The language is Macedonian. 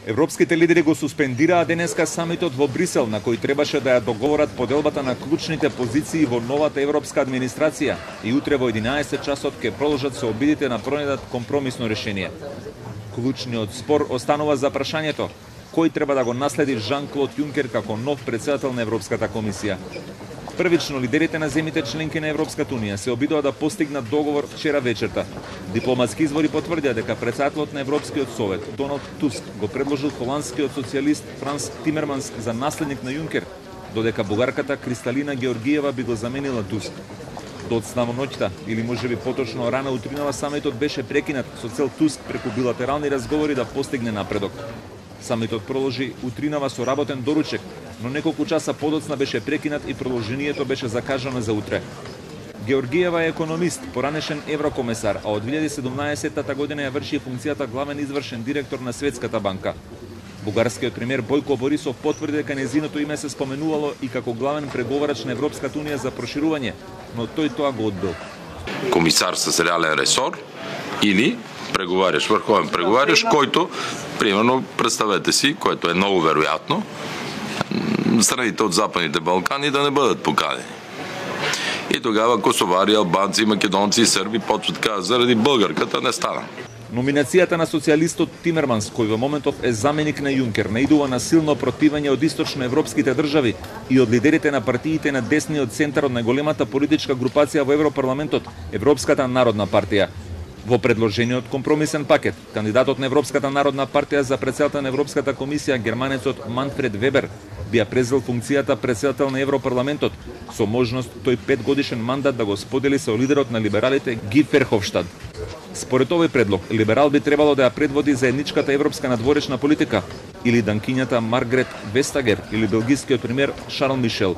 Европските лидери го суспендираа денеска самитот во Брисел, на кој требаше да ја договорат поделбата на клучните позиции во новата европска администрација и утре во 11 часот ќе продолжат се обидите на пронајдат компромисно решение. Клучниот спор останува за прашањето кој треба да го наследи Жан-Клод Јункер како нов претседател на Европската комисија. Првично лидерите на земјите членки на Европската унија се обидоа да постигнат договор вчера вечерта. Дипломатски извори потврдија дека претседателот на Европскиот совет Доналд Туск го предложил холандскиот социјалист Франс Тимерманс за наследник на Јункер, додека бугарката Кристалина Георгиева би го заменила Туск. Доцна во ноќта, или можеби поточно рано утринава, самитот беше прекинат со цел Туск преку билатерални разговори да постигне напредок. Самитот продолжи утринава со работен доручек, но неколку часа подоцна беше прекинат и продолжението беше закажано за утре. Георгиева е економист, поранешен еврокомесар, а од 2017 година ја врши функцијата главен извршен директор на Светската банка. Бугарскиот премиер Бојко Борисов потврди дека нејзиното име се споменувало и како главен преговарач на Европската унија за проширување, но тој тоа го одбил. Комисар с реален ресор или преговаряш, врховен преговаряш, којто, примерно, представете си, което е многу веројатно, страните од Западните Балкани да не бъдат поканени. И тогава косовари, албанци, македонци и срби почват да кажат заради българката не стана. Номинацијата на социјалистот Тимерманс, кој во моментов е заменик на Јункер, наидува на силно противење од источноевропските држави и од лидерите на партиите на десниот центар од најголемата политичка групација во Европарламентот, Европската народна партија. Во предложениот компромисен пакет, кандидатот на Европската народна партија за претседател на Европската комисија, германецот Манфред Вебер, би ја презел функцијата претседател на Европарламентот, со можност тој 5-годишен мандат да го сподели со лидерот на либералите Ги Ферховштад. Според овој предлог, либерал би требало да ја предводи заедничката европска надворешна политика, или данкињата Маргрет Вестагер, или белгискиот премиер Шарл Мишел.